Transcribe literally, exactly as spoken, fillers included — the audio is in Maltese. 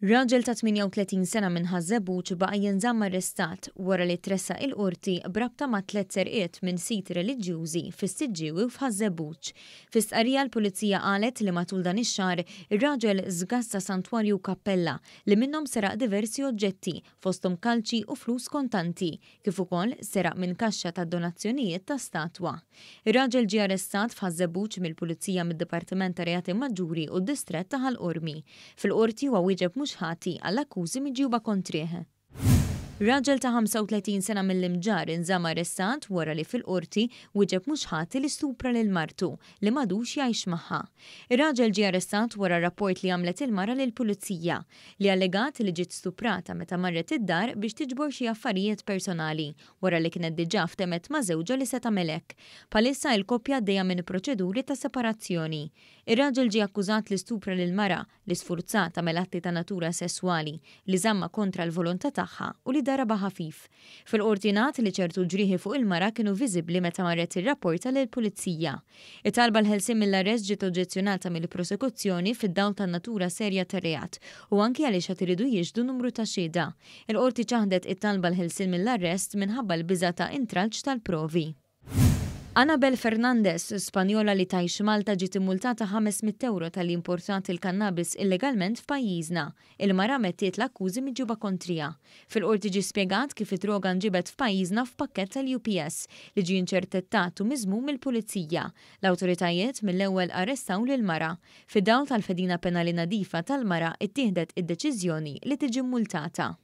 Raġel ta' tmienja u tletin sena minn Ħaż-Żebbuġ baqa' jinżamm arrestat wara li tressaq il-qorti b'rabta ma' tliet serqiet minn siti reliġjużi fis-Siġġiewi u f'Ħaż-Żebbuġ. Fi stqarrija, l-Pulizija qalet li matul dan ix-xahar ir-raġel żgassa santwarju u kappella li minnhom seraq diversi oġġetti, fosthom kalċi u flus kontanti, kif ukoll seraq minn kaxxa ta' donazzjonijiet ta' statwa. Ir-raġel ġie arrestat f'Ħaż-Żebbuġ mill-Pulizija mid-Dipartiment ta' Reati Maġġuri u d-Distrett ta' Ħal Qormi. Fil-qorti huwa wieġeb mhux ħati għall-akkużi miġjuba kontrih. Raġel ta' ħamsa u tletin sena mill-Imġarr inżamm arrestat wara li fil-qorti wieġeb mhux ħati li stupra lil martu li m'għadux jgħix magħha. Ir-raġel ġie arrestat wara rapport li għamlet il-mara lill-pulizija, li allegat li ġiet stuprata meta marret id-dar biex tiġbor xi affarijiet personali wara li kienet diġà ftemet ma' żewġha li se tagħmel hekk. Bħalissa il-koppja għaddejja minn proċeduri ta' separazzjoni. Ir-raġel ġie akkużat li stupra lil mara, li sfurzatha tagħmel atti ta' natura sesswali, li żamma kontra l-volontà tagħha u li daraba ħafif. Fil-qorti ngħad li ċertu ġrieħi fuq il-mara kienu viżibbli meta marret tirrapporta lill-pulizija. It-talba għall-ħelsien mill-arrest ġiet oġġezzjonata mill-prosekuzzjoni fid-dawl tan-natura serja tar-reat u anki għaliex għad iridu jixhdu numru ta' xhieda. Il-qorti ċaħdet it-talba għall-ħelsien mill-arrest minħabba l-biża ta' intralċ tal-provi. Anabel Fernandez, Spanjola li tgħix Malta, ġiet immultata ħames mitt euro talli importat il-kannabis illegalment f'pajjiżna. Il-mara ammettiet l-akkużi miġjuba kontriha. Fil-qorti ġi spjegat kif id-droga nġibet f'pajjiżna f'pakkett tal-U P S li ġie interċettat u miżmum mill-pulizija. L-awtoritajiet mill-ewwel arrestaw lil mara. Fid-dawl tal-fedina penali nadifa tal-mara, ittieħdet id-deċiżjoni li tiġi multata.